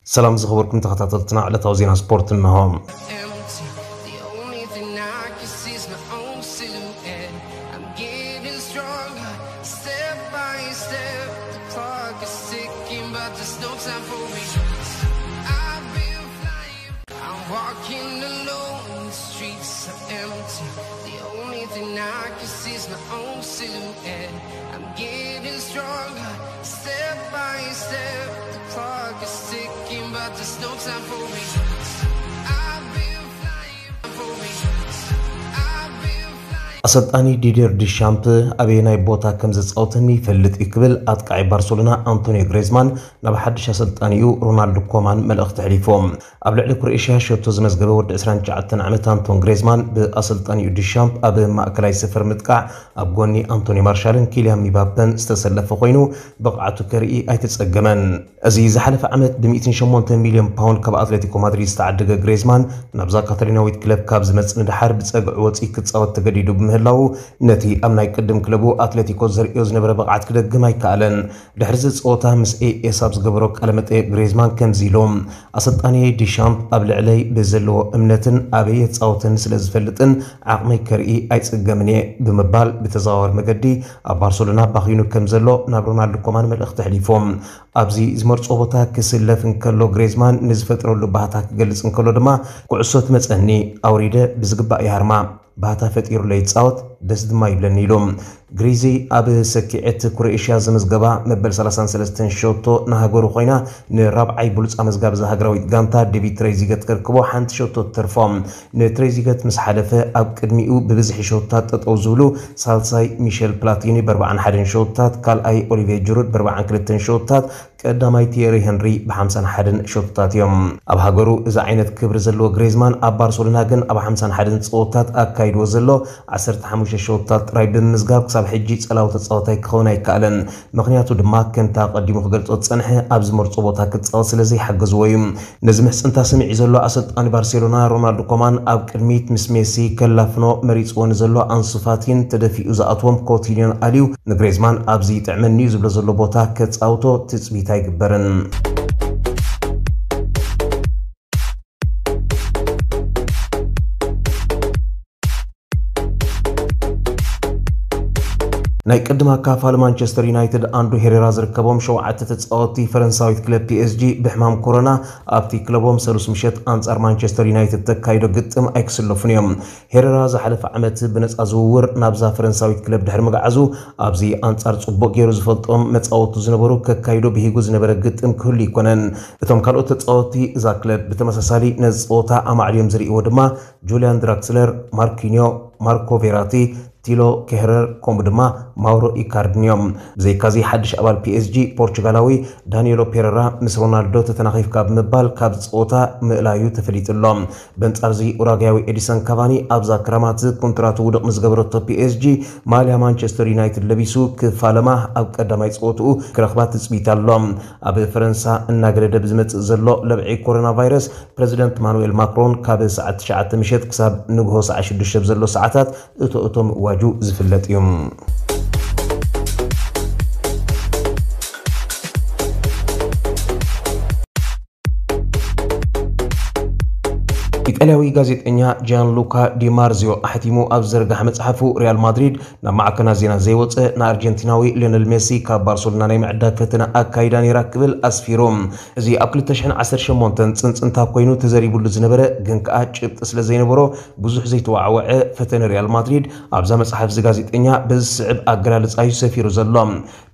ሰላም ዝኸበርኩም ተኸታተልትና፣ ዕለታዊ ዜና ስፖርት እንሆ። Empty. The only thing I can see is my own silhouette. I'm getting stronger, step by step. The clock is ticking, but there's no time for me. I've been flying. I'm walking alone, the streets are empty. The only thing I can see is my own silhouette. I'm getting stronger, step by step. The clock is ticking, but there's no time for me. I've been flying, for me. I've been flying. ኣሰልጣኒ ዲዲር ዲሻምፕ ኣበየናይ ቦታ ከም ዘጻወተኒ ይፈልጥ እዩ ክብል ኣጥቃዒ ባርሰሎና ኣንቶኒዮ ግሬዝማን ናብ ሓድሽ ኣሰልጣኒኡ ሮናልዶ ኮማን መልእኽቲ ኣሕሊፎም። ኣብ ልዕሊ ክሮኤሽያ ሸቶ ዝመዝገበ ወዲ ዕስራን ትሽዓተን ዓመት ኣንቶን ግሬዝማን ብኣሰልጣኒኡ ዲሻምፕ ኣብ ማእከላይ ሰፈር ምጥቃዕ ኣብ ጎኒ ኣንቶኒ ማርሻልን ኪልያን ሚባፔን ዝተሰለፈ ኮይኑ ብቕዓቱ ከርኢ ኣይተጸገመን። እዚ ዝሓለፈ ዓመት ብ108 ሚልዮን ፓውንድ ካብ ኣትሌቲኮ ማድሪድ ዝተዓደገ ግሬዝማን ናብዛ ካታሎናዊት ክለብ ካብ ዝመጽእ ንደሓር ብጸግዒ ወጺኡ ክጻወት ተገዲዱ ብምህላዉ ነቲ ኣብ ናይ ቅድም ክለቡ ኣትሌቲኮ ዘርእዮ ዝነበረ ብቕዓት ክደግም ኣይከኣለን። ድሕሪ እዚ ጸወታ ምስ ኤኤስ ኣብ ዝገበሮ ቃለ መጠይቕ ግሬዝማን ከምዚ ኢሉ፣ ኣሰልጣኒ ዲሻምፕ ኣብ ልዕለይ ብዘለዎ እምነትን ኣበይ የጻወተኒ ስለ ዝፈልጥን ዓቕመይ ከርኢ ኣይጽገምን እየ ብምባል ብተዘዋዋሪ መገዲ ኣብ ባርሰሎና ባኺኑ ከም ዘሎ ናብ ሮናልዶ ኮማን መልእኽቲ ኣሕሊፎም። ኣብዚ ዝመርጾ ቦታ ክስለፍ እንከሎ ግሬዝማን ንዝፈጥረሉ ባህታ ክገልጽ እንከሎ ድማ ኩዕሶ ትመጸኒ ኣውሪደ ብዝግባእ ይሃርማ፣ ባህታ ፈጢሩለይ ይጻወት ደስ ድማ ይብለኒ ኢሉ። ግሪዚ ኣብ ሰኪዐት ክሮኤሽያ ዘመዝገባ መበል ሰላሳን ሰለስተን ሸቶ ንሃገሩ ኮይና ንራብዓይ ብሉጽ ኣመዝጋቢ እዛ ሃገራዊት ጋንታ ዴቪድ ትሬዚገት ከርክቦ ሓንቲ ሸቶ ትተርፎ። ንትሬዚገት ምስ ሓለፈ ኣብ ቅድሚኡ ብብዝሒ ሸቶታት ጠጠው ዝብሉ ሳልሳይ ሚሸል ፕላቲኒ ብ41 ሸቶታት፣ ካልኣይ ኦሊቬ ጅሩድ ብ42 ሸቶታት፣ ቀዳማይ ቲየሪ ሄንሪ ብ51 ሸቶታት እዮም። ኣብ ሃገሩ እዚ ዓይነት ክብሪ ዘለዎ ግሬዝማን ኣብ ባርሰሎና ግን ኣብ 51 ጸወታት ኣካይድዎ ዘሎ 15 ሸቶታት ጥራይ ብምምዝጋብ ክሳብ ሕጂ ጸላዊ ተጻዋታይ ክኸውን ኣይከኣለን። ምኽንያቱ ድማ ከምቲ ኣቐዲሙ ክገልጾ ዝጸንሐ ኣብ ዝመርጾ ቦታ ክጻወት ስለ ዘይሓገዝዎ እዩ። ነዚ ምሕጽንታ ስምዒ ዘሎ ኣሰልጣኒ ባርሴሎና ሮናልዶ ኮማን ኣብ ቅድሚት ምስ ሜሲ ከላፍኖ መሪጽዎ ንዘሎ ኣንሱ ፋቲን ተደፊኡ ዝኣትዎም ኮቲኒዮን ኣልዩ ንግሬዝማን ኣብዚ ይጥዕመኒ እዩ ዝብሎ ዘሎ ቦታ ከጻውቶ ትጽቢት ኣይግበርን። ናይ ቅድም ኣካፋሊ ማንቸስተር ዩናይትድ ኣንድሩ ሄሬራ ዝርከቦም ሸውዓተ ተጻወትቲ ፈረንሳዊት ክለብ ፒኤስጂ ብሕማም ኮሮና ኣብቲ ክለቦም ሰሉስ ምሸት ኣንጻር ማንቸስተር ዩናይትድ ተካይዶ ግጥም ኣይክስለፉን እዮም። ሄሬራ ዝሓለፈ ዓመት ብነጻ ዝውውር ናብዛ ፈረንሳዊት ክለብ ድሕሪ ምግዓዙ ኣብዚ ኣንጻር ጽቡቕ ገይሩ ዝፈልጦም መጻወቱ ዝነበሩ ከካይዶ ብሂጉ ዝነበረ ግጥም ክህሉ ኣይኮነን። እቶም ካልኦት ተጻወትቲ እዛ ክለብ ብተመሳሳሊ ነዚ ጸወታ ኣማዕድዮም ዝርእይዎ ድማ ጁልያን ድራክስለር፣ ማርኪኒዮ፣ ማርኮ ቬራቲ፣ ቲሎ ኬህረር ከምኡ ድማ ማውሮ ኢካርድን እዮም። ብዘይካዚ ሓድሽ ኣባል ፒኤስጂ ፖርቹጋላዊ ዳኒኤሎ ፔረራ ምስ ሮናልዶ ተተናኺፍካ ብምባል ካብ ጸወታ ምእላዩ ተፈሊጡ ኣሎ። በንጻርዚ ኡራጋያዊ ኤዲሰን ካቫኒ ኣብዛ ክረማት ኮንትራቱ ውድቕ ምስ ገበረቶ ፒኤስጂ ማልያ ማንቸስተር ዩናይትድ ለቢሱ ክፋለማ ኣብ ቀዳማይ ጸወትኡ ክረኽባ ትጽቢት ኣሎ። ኣብ ፈረንሳ እናገደደ ብዝመጽእ ዘሎ ለብዒ ኮሮና ቫይረስ ፕረዚደንት ማኑኤል ማክሮን ካብ ሰዓት ትሽዓተ ምሸት ክሳብ ንግሆ ሰዓት ሽዱሽተ ኣብ ዘሎ ሰዓታት እቶ እቶ ምእዋጁ ዝፍለጥ እዩ። ኢጣልያዊ ጋዜጠኛ ጂያን ሉካ ዲማርዚዮ ኣሕቲሙ ኣብ ዝዘርጋሐ መጽሓፉ ሪያል ማድሪድ ናብ ማዕከናት ዜና ዘይወጸ ንኣርጀንቲናዊ ሊዮነል ሜሲ ካብ ባርሰሎና ናይ ምዕዳግ ፈተነ ኣካይዳ ነይራ ክብል ኣስፊሩ። እዚ ኣብ ክልተ ሽሕን ዓሰርተ ሸሞንተን ጽንጽንታ ኮይኑ ተዘሪቡሉ ዝነበረ ግን ከኣ ጭብጢ ስለ ዘይነበሮ ብዙሕ ዘይተዋዕወዐ ፈተነ ሪያል ማድሪድ ኣብዛ መጽሓፍ እዚ ጋዜጠኛ በዚ ዝስዕብ ኣገላልጻ እዩ ሰፊሩ ዘሎ።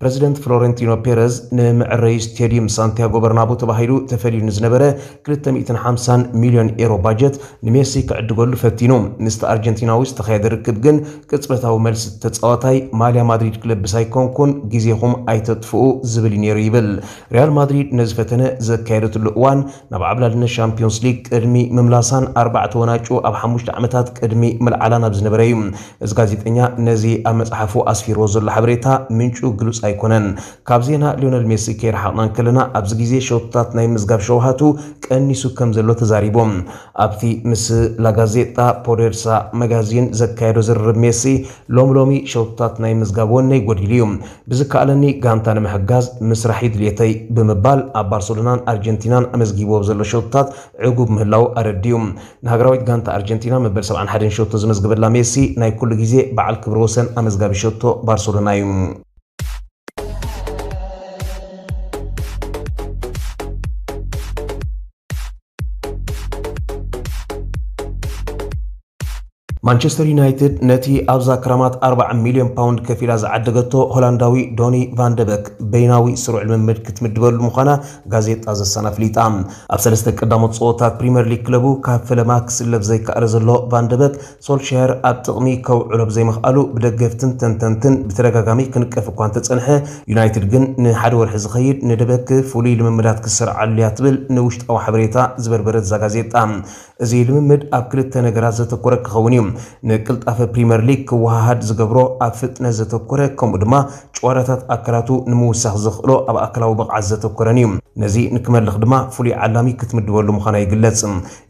ፕረዚደንት ፍሎረንቲኖ ፔረዝ ንምዕረዩ ስቴድዩም ሳንቲያጎ በርናቡ ተባሂሉ ተፈልዩ ንዝነበረ ክልተ ሚእትን ሓምሳን ሚልዮን ኤሮ ባጀት ንሜሲ ክዕድገሉ ፈቲኑ። ምስቲ ኣርጀንቲናዊ ዝተኻየደ ርክብ ግን ቅጽበታዊ መልሲ ተጻዋታይ ማልያ ማድሪድ ክለብስ ኣይኮንኩን፣ ግዜኹም ኣይተጥፍኡ ዝብል እዩ ነይሩ ይብል። ሪያል ማድሪድ ነዚ ፈተነ ዘካየደትሉ እዋን ናብ ዓብላልነት ሻምፒዮንስ ሊግ ቅድሚ ምምላሳን ኣርባዕተ ወናጩ ኣብ ሓሙሽተ ዓመታት ቅድሚ ምልዓላ ናብ ዝነበረ እዩ። እዚ ጋዜጠኛ ነዚ ኣብ መጽሓፉ ኣስፊርዎ ዘሎ ሓበሬታ ምንጩ ግሉጽ ኣይኮነን። ካብ ዜና ሊዮነል ሜሲ ከይረሓቕና እንከለና ኣብዚ ግዜ ሸቶታት ናይ ምዝጋብ ሸውሃቱ ቀኒሱ ከም ዘሎ ተዛሪቡ። ኣብ እቲ ምስ ላጋዜጣ ፖዴርሳ መጋዚን ዘካየዶ ዝርርብ፣ ሜሲ ሎሚ ሎሚ ሸውታት ናይ ምዝጋብ ወነይ ጎዲሉ እዩ። ብዝከኣለኒ ጋንታ ንምሕጋዝ ምስራሕ እዩ ድልየተይ ብምባል ኣብ ባርሰሎናን ኣርጀንቲናን ኣመዝጊብዎ ዘሎ ሸውታት ዕጉብ ምህላው ኣረዲኡ። ንሃገራዊት ጋንታ ኣርጀንቲና መበል ሰብዓን ሓደን ሸቶ ዝመዝገበላ ሜሲ ናይ ኩሉ ግዜ በዓል ክብረ ወሰን ኣመዝጋቢ ሸቶ ባርሰሎና እዩ። ማንቸስተር ዩናይትድ ነቲ ኣብዛ ክራማት ኣርባዓ ሚልዮን ፓውንድ ከፊላ ዝዓደገቶ ሆላንዳዊ ዶኒ ቫንደበክ በይናዊ ስሩዕ ልምምድ ክትምድበሉ ምዃና ጋዜጣ ዘሳን ኣፍሊጣ። ኣብ ሰለስተ ቀዳሞት ጸወታት ፕሪምየር ሊግ ክለቡ ካብ ፈለማ ክስለፍ ዘይከኣለ ዘሎ ቫንደበክ፣ ሶልሻየር ኣብ ጥቕሚ ከውዕሎ ብዘይምኽኣሉ ብደገፍትን ተንተንትን ብተደጋጋሚ ክንቀፍ እኳ እንተጸንሐ፣ ዩናይትድ ግን ንሓደ ወርሒ ዝኸይድ ንደበክ ፍሉይ ልምምዳት ክሰርዓሉ እያ ትብል ንውሽጣዊ ሓበሬታ ዝበርበረት እዛ ጋዜጣ። እዚ ልምምድ ኣብ ክልተ ነገራት ዘተኮረ ክኸውን እዩ። ንቅልጣፈ ፕሪምየር ሊግ ክወሃሃድ ዝገብሮ ኣብ ፍጥነት ዘተኮረ፣ ከምኡ ድማ ጨዋታታት ኣካላቱ ንምውሳኽ ዘኽእሎ ኣብ ኣካላዊ ብቕዓት ዘተኮረን እዩ። ነዚ ንክመልኽ ድማ ፍሉይ ዓላሚ ክትምድበሉ ምዃና ይግለጽ።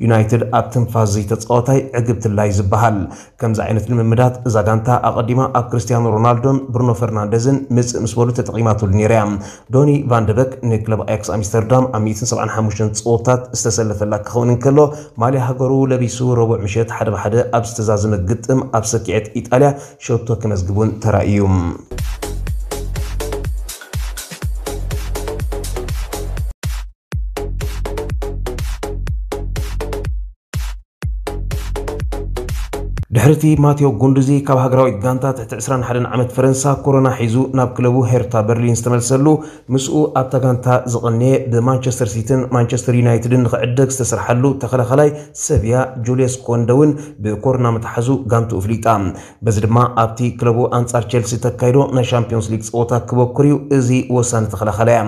ዩናይትድ ኣብ ትንፋስ ዘይተጻወታይ ዕግብትላይ ዝበሃል። ከምዚ ዓይነት ልምምዳት እዛ ጋንታ ኣቐዲማ ኣብ ክርስቲያኖ ሮናልዶን ብሩኖ ፈርናንደዝን ምጽእ ምስ በሉ ተጠቒማትሉ ነይራ እያ። ዶኒ ቫንደበክ ንክለብ ኣያክስ ኣምስተርዳም ኣብ ሚእትን ሰብዓን ሓሙሽተን ጸወታት ዝተሰለፈላ ክኸውን እንከሎ፣ ማልያ ሃገሩ ለቢሱ ረቡዕ ምሸት ሓደ ብሓደ ኣብ ዝተዛዘመ ግጥም ኣብ ሰኪዐት ኢጣልያ ሸቶ ከመዝግብ እውን ተራእዩ። ድሕሪ እቲ ማቴዎ ጉንዱዚ ካብ ሃገራዊት ጋንታ ትሕቲ ዕስራን ሓደን ዓመት ፈረንሳ ኮሮና ሒዙ ናብ ክለቡ ሄርታ በርሊን ዝተመልሰሉ፣ ምስኡ ኣብታ ጋንታ ዝቐነየ ብማንቸስተር ሲቲን ማንቸስተር ዩናይትድን ንኽዕደግ ዝተሰርሓሉ ተኸላኻላይ ሰቪያ ጁልየስ ኮንደ እውን ብኮሮና ምትሓዙ ጋንትኡ ፍሊጣ። በዚ ድማ ኣብቲ ክለቡ ኣንጻር ቸልሲ ተካይዶ ናይ ሻምፒዮንስ ሊግ ጸወታ ክበኩር እዩ። እዚ ወሳኒ ተኸላኻላይ እያ።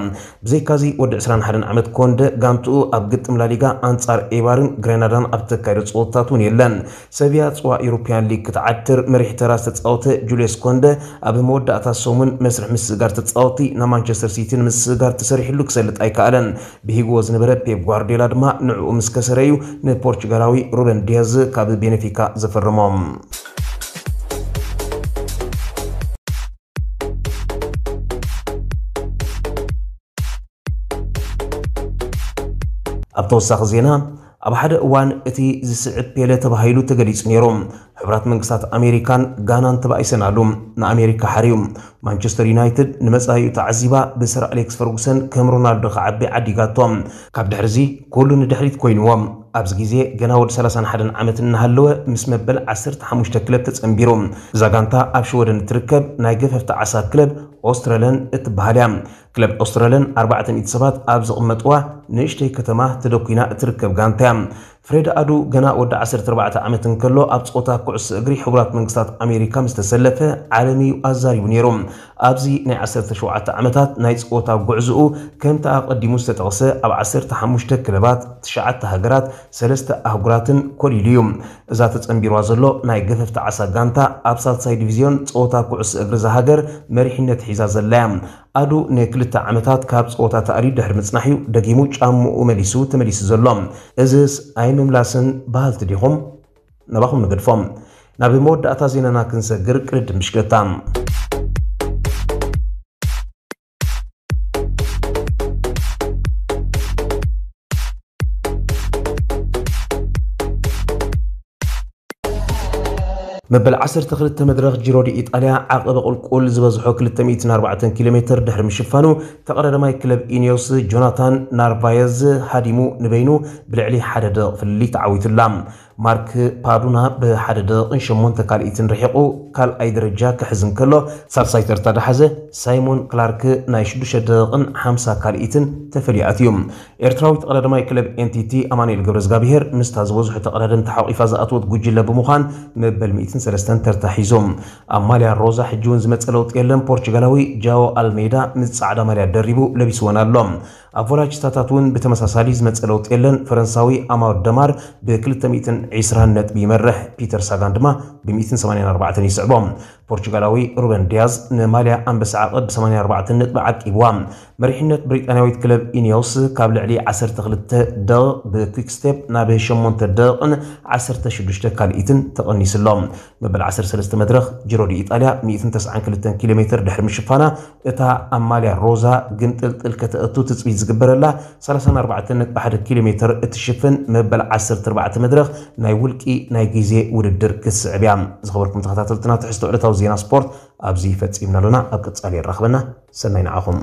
ብዘይካዚ ወዲ ዕስራን ሓደን ዓመት ኮንደ ጋንትኡ ኣብ ግጥም ላሊጋ ኣንጻር ኤባርን ግሬናዳን ኣብ ተካይዶ ጸወታታት እውን የለን። ሰቪያ ጽዋ ኤውሮፕያን ሊግ ክትዓትር መሪሕ ተራ ዝተጻወተ ጁልየስ ኮንደ ኣብ መወዳእታ ሰሙን መስርሕ ምስግጋር ተጻወቲ ናብ ማንቸስተር ሲቲ ንምስግጋር ተሰሪሕሉ ክሰልጥ ኣይከኣለን። ብሂግዎ ዝነበረ ፔፕ ጓርዲዮላ ድማ ንዕኡ ምስ ከሰረ እዩ ንፖርቹጋላዊ ሩበን ዲያዝ ካብ ቤኔፊካ ዘፈረሞ። ኣብ ተወሳኺ ዜና፣ ኣብ ሓደ እዋን እቲ ዝስዕብ ፔለ ተባሂሉ ተገሊጹ ነይሩ። ሕቡራት መንግስታት ኣሜሪካን ጋናን ተባኢሰን ኣሉ። ንኣሜሪካ ሓርዩ። ማንቸስተር ዩናይትድ ንመጻኢኡ ተዓዚባ ብሰር ኣሌክስ ፈርጉሰን ከም ሮናልዶ ክዓቢ ዓዲጋቶ። ካብ ድሕሪዚ ኩሉ ንድሕሪት ኮይንዎ። ኣብዚ ግዜ ገና ወዲ ሰላሳን ሓደን ዓመት እናሃለወ ምስ መበል ዓሰርተ ሓሙሽተ ክለብ ተጸንቢሩ። እዛ ጋንታ ኣብ ሽወደን እትርከብ ናይ ገፈፍቲ ዓሳ ክለብ ኦስትረለን እትበሃል እያ። ክለብ ኦስትረለን ኣርባዕተ ሚእቲ ሰባት ኣብ ዝቕመጥዋ ንእሽተይ ከተማ ተደኲና እትርከብ ጋንታ እያ። ፍሬድ ኣዱ ገና ወዲ ዓሰርተ ኣርባዕተ ዓመት እንከሎ ኣብ ጸወታ ኩዕሶ እግሪ ሕቡራት መንግስታት ኣሜሪካ ምስ ተሰለፈ ዓለም እዩ ኣዛሪቡ ነይሩ። ኣብዚ ናይ ዓሰርተ ሸውዓተ ዓመታት ናይ ጸወታ ጉዕዞኡ ከምቲ ኣቐዲሙ ዝተጠቕሰ ኣብ ዓሰርተ ሓሙሽተ ክለባት፣ ትሽዓተ ሃገራት፣ ሰለስተ ኣህጉራትን ኮሊሉ እዩ። እዛ ተጸንቢርዋ ዘሎ ናይ ገፈፍቲ ዓሳ ጋንታ ኣብ ሳልሳይ ዲቪዝዮን ጸወታ ኩዕሶ እግሪ እዛ ሃገር መሪሕነት ሒዛ ዘላ እያ። ኣዱ ንክልተ ዓመታት ካብ ጸወታ ተኣልዩ ድሕሪ ምጽናሕ እዩ ደጊሙ ጫምኡ መሊሱ ተመሊሱ ዘሎ። እዝስ ኣይምምላስን በሃልቲ ዲኹም? ናባኹም ንገድፎም። ናብ መወዳእታ ዜናና ክንሰግር ቅድድም ብሽክለታ። መበል ዓሰርተ ክልተ መድረኽ ጂሮ ዲ ኢጣልያ ዓቐበ ቁልቁል ዝበዝሖ ክልተ ሚእትን ኣርባዕተን ኪሎ ሜትር ድሕሪ ምሽፋኑ፣ ተቐዳዳማይ ክለብ ኢኒዮስ ጆናታን ናርቫየዝ ሃዲሙ ንበይኑ ብልዕሊ ሓደ ደቂቕ ፍልልይ ተዓዊቱላ። ማርክ ፓዱና ብሓደ ደቂቕን ሸሞንተ ካልኢትን ርሒቑ ካልኣይ ደረጃ ክሕዝ እንከሎ፣ ሳልሳይ ተርታ ዝሓዘ ሳይሞን ክላርክ ናይ ሽዱሽተ ደቂቕን ሓምሳ ካልኢትን ተፈልዩ ኣትዩ። ኤርትራዊ ተቐዳዳማይ ክለብ ኤንቲቲ ኣማኑኤል ገብረዝጋብሄር ምስታ ዝበዝሑ ተቐዳደምቲ ሓቑፋ ዝኣተወት ጉጅለ ብምዃን መበል ሚእትን ሰለስተን ተርታ ሒዙ። ኣብ ማልያ ሮዛ ሕጂ እውን ዝመጸ ለውጢ የለን። ፖርቹጋላዊ ጃኦ ኣልሜዳ ምስ ጻዕዳ ማልያ ደሪቡ ለቢስወን ኣሎ። ኣብ ቮላጅታታት እውን ብተመሳሳሊ ዝመጸ ለውጢ የለን። ፈረንሳዊ ኣማር ደማር ብ220 ነጥቢ ይመርሕ፣ ፒተር ሳጋን ድማ ብ184 ይስዕቦ። ፖርቹጋላዊ ሩበን ዲያዝ ንማልያ ኣንበሳ ዓቐብ ብ84 ነጥቢ ዓቂብዋ። መሪሕነት ብሪጣንያዊት ክለብ ኢኒዮስ ካብ ልዕሊ 12 ደቕ ብኩክስቴፕ ናብ 8 ደቕን 16 ካልኢትን ተቐኒስሎ። መበል 13 መድረኽ ጅሮ ዲ ኢጣልያ 192 ኪሎ ሜትር ድሕሪ ምሽፋና፣ እታ ኣማልያ ሮዛ ግንጥልጥል ከተእቱ ትጽቢት ዝግበረላ 34.1 ኪሎ ሜትር እትሽፍን መበል 14 መድረኽ ናይ ውልቂ ናይ ግዜ ውድድር ክትስዕብ እያ። ዝኸበርኩም ተኸታተልትና፣ ትሕዝቶ ዕለታዊ ዜና ስፖርት ኣብዚ ፈጺምና ኣለና። ኣብ ቀጻሊ የራኽበና። ሰናይ ንዓኹም።